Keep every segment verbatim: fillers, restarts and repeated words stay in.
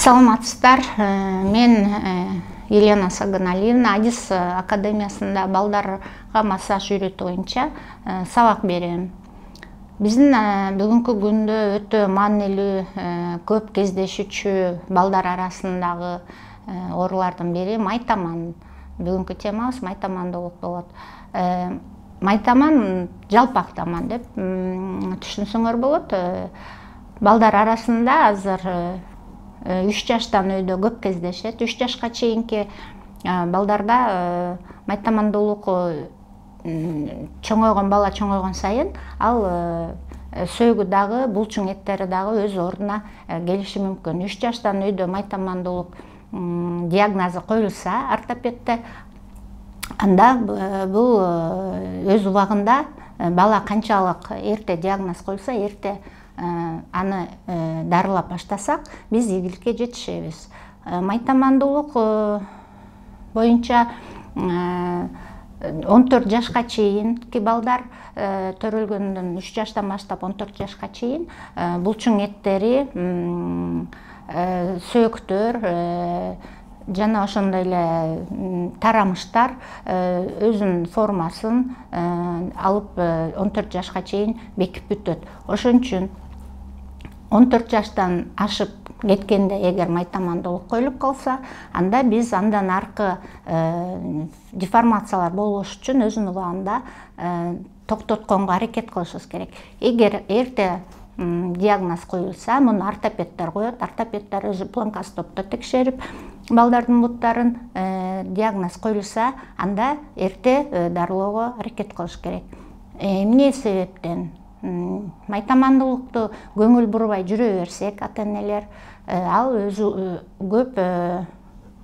Саламатсыздар. Мен Елена Саганалиевна Адис академиясында балдарга массаж үйрөтүү боюнча сабак берем. Биздин бүгүнкү күндө өтө маанилүү, көп кездешүүчү балдар арасындагы оорулардын бири майтаман. Бүгүнкү темабыз майтамандуулук болот. Майтаман жалпак таман деп түшүнсөңөр болот. Балдар арасында азыр үч жаштан өйдө көп кездешет. үч жашка чейинки балдарда майтамандуулук чоңойгон бала чоңойгон сайын ал сөөгү дагы, булчуң эттери дагы өз ордуна келиши мүмкүн. үч жаштан өйдө майтамандуулук диагнозу коюлса ортопедте, анда бул өз убагында бала канчалык эрте диагноз коюлса, эрте аны дарылап баштасак, биз ийгиликке жетишебиз. Майтамандуулук боюнча он төрт жашка чейинки балдар төрөлгөндөн үч жаштан баштап он төрт жашка чейин булчуң эттери, сөөктөр жана ошондой эле тарамыштар өзүнүн формасын алып он төрт жашка чейин бекип бүтөт. Ошон үчүн он төрт жаштан ашып кеткенде эгер майтамандуулук коюлуп калса, анда биз андан аркы деформациялар болбош үчүн өзүнүн убагында токтотконго аракет кылышыбыз керек. Эгер эрте диагноз коюлса, муну ортопедтер коет. Ортопедтер өзү планкостопто текшерип балдардын буттарын, диагноз коюлса, анда эрте дарылоого аракет кылыш керек. Эмне себептен майтамандуулукту көңүл бурбай жүрө берсек, ата-энелер, ал өзү көп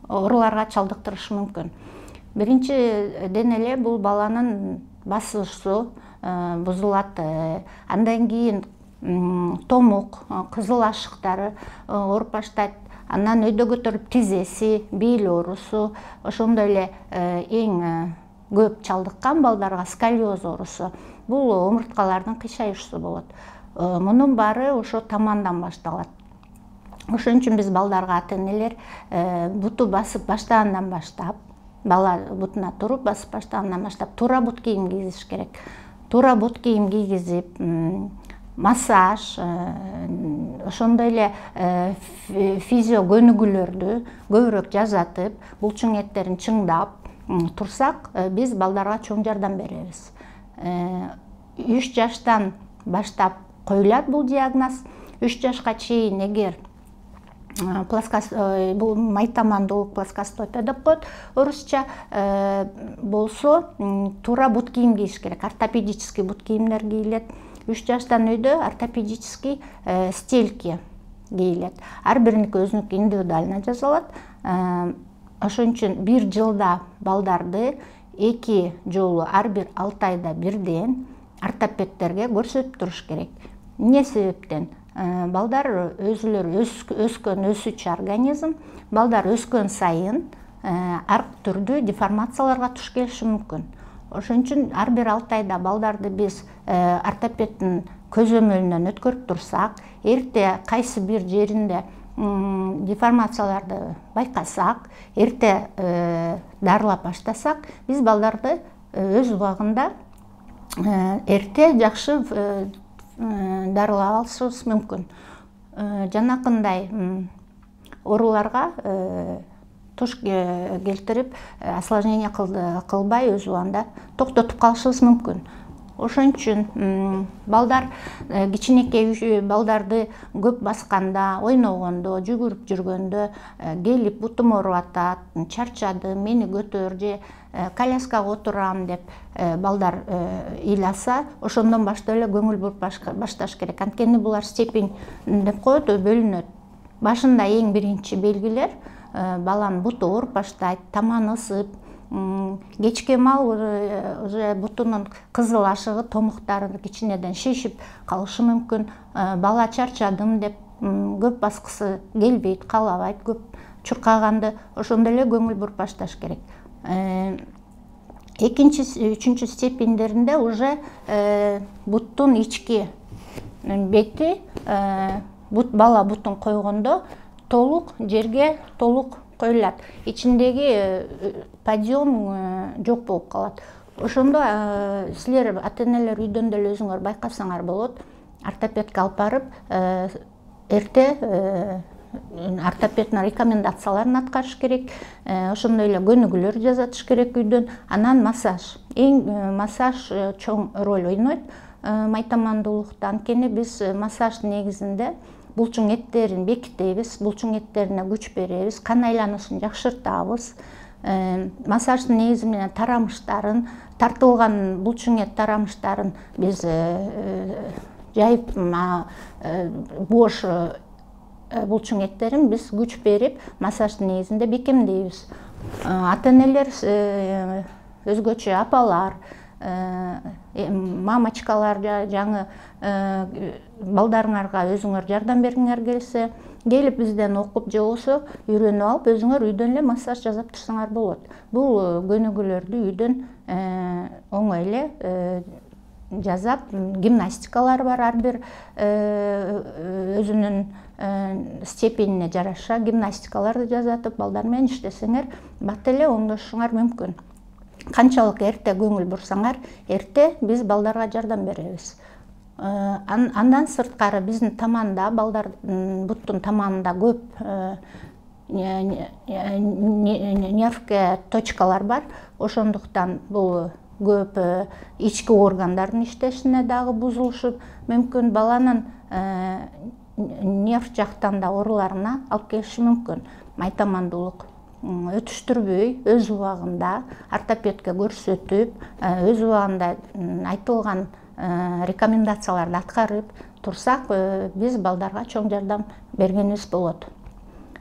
ооруларга чалдыктырышы мүмкүн. Биринчиден эле бул баланын басышы бузулат. Андан кийин томук, кызыл ашыктары ооруп баштайт. Андан өйдө көтөрүп тизеси, бел оорусу, ошондой эле эң көп чалдыккан балдарга сколиоз оорусу. Бул омурткалардын кыйшайышусу болот. Мунун баары ошо тамандан башталат. Ошон үчүн биз балдарга, ата-энелер буту басып баштагандан баштап, бала бутуна туруп басып баштагандан баштап туура бут кийим кийгизиш керек. Туура бут кийим кийгизип, массаж, ошондой эле физио көнүгүүлөрдү көбүрөөк жасатып, булчуң эттерин чыңдап турсак, биз балдарга чоң жардам беребиз. үч жаштан баштап коюлат бул диагноз. үч жашка чейин эгер бул майтамандуулук плоскостопия деп коет орусча болсо, туура бут кийим кийиш керек. Ортопедический бут кийимдер кийилет. үч жаштан өйдө ортопедический стельки кийилет. Ар бириники өзүнүкү индивидуально жасалат. Ошон үчүн бир жылда балдарды эки жолу ар бир алты айда бирден ортопедтерге көрсөтүп туруш керек. Эмне себептен? Балдар өзүлөрү өскөн өсүүчү организм. Балдар өскөн сайын ар түрдүү деформацияларга туш келиши мүмкүн. Ошон үчүн ар бир алты айда балдарды биз ортопедтин көзөмөлүнөн өткөрүп турсак, эрте кайсы бир жеринде деформацияларды байкасак, эрте дарылап баштасак, биз балдарды өз убагында эрте жакшы дарылап алышыбыз мүмкүн. Жанакындай ооруларга туш келтирип, осложнение кылбай өз убагында токтотуп калышыбыз мүмкүн. Ошон үчүн балдар, кичинекей балдарды көп басканда, ойногондо, жүгүрүп жүргөндө келип бутум ооруп атат, чарчадым, мени көтөр же коляскага отурам деп балдар ыйласа, ошондон баштап эле көңүл буруп башташ керек. Анткени булар степень деп коет, бөлүнөт. Башында эң биринчи белгилер баланын буту ооруп баштайт, таманы ысып, кечке мал уже бутунун кызыл ашыгы, томуктары кичинеден шишип калышы мүмкүн. Бала чарчадым деп көп баскысы келбейт, каалабайт, көп чуркаганды, ошондой эле көңүл буруп башташ керек. Экинчи, үчүнчү степендеринде уже буттун ички бети, бала бутун койгондо толук жерге толук коюлат. Ичиндеги подъем жок болуп калат. Ошондо силер ата-энелер үйдөн деле өзүңөр байкасаңар болот. Ортопедке алып барып, эрте ортопеддин рекомендацияларын аткарыш керек. Ошондой эле көнүгүүлөр жасатыш керек үйдөн. Анан массаж. Эң массаж чоң роль ойнойт майтамандуулукта. Анткени биз массаж негизинде булчуң эттерин бекитебиз, булчуң эттерине күч беребиз, кан айланышын жакшыртабыз. Массаждын негизи менен тарамыштарын, тартылган булчуң эт тарамыштарын биз жайып, бош булчуң эттерин биз күч берип, массаждын негизинде бекемдейбиз. Ата-энелер, өзгөчө апалар, мамочкалар, жаңы балдарыңарга өзүңөр жардам бергиңер келсе, келип бизден окуп же болбосо үйрөнүп алып, өзүңөр үйдөн эле массаж жасап турсаңар болот. Бул көнүгүүлөрдү үйдөн оңой эле жасап, гимнастикалар бар, ар бир өзүнүн степенине жараша гимнастикаларды жасатып, балдар менен иштесеңер, бат эле оңдошуңар мүмкүн. Канчалык эрте көңүл бурсаңар, эрте биз балдарга жардам беребиз. Андан сырткары биздин таманда, балдардын буттун таманында көп нервке точкалар бар. Ошондуктан бул көп ички органдардын иштешине дагы бузулушу мүмкүн, баланын нерв жактан да ооруларына алып келиши мүмкүн. Майтамандуулук өтүштүрбөй, өз убагында ортопедке көрсөтүп, өз убагында айтылган рекомендацияларды аткарып турсак, биз балдарга чоң жардам бергенибиз болот.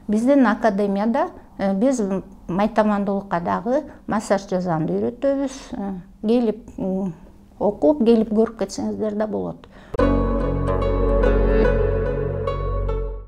Биздин академияда биз майтамандуулукка дагы массаж жасаганды үйрөтөбүз. Келип окуп, келип көрүп кетсеңиздер да болот.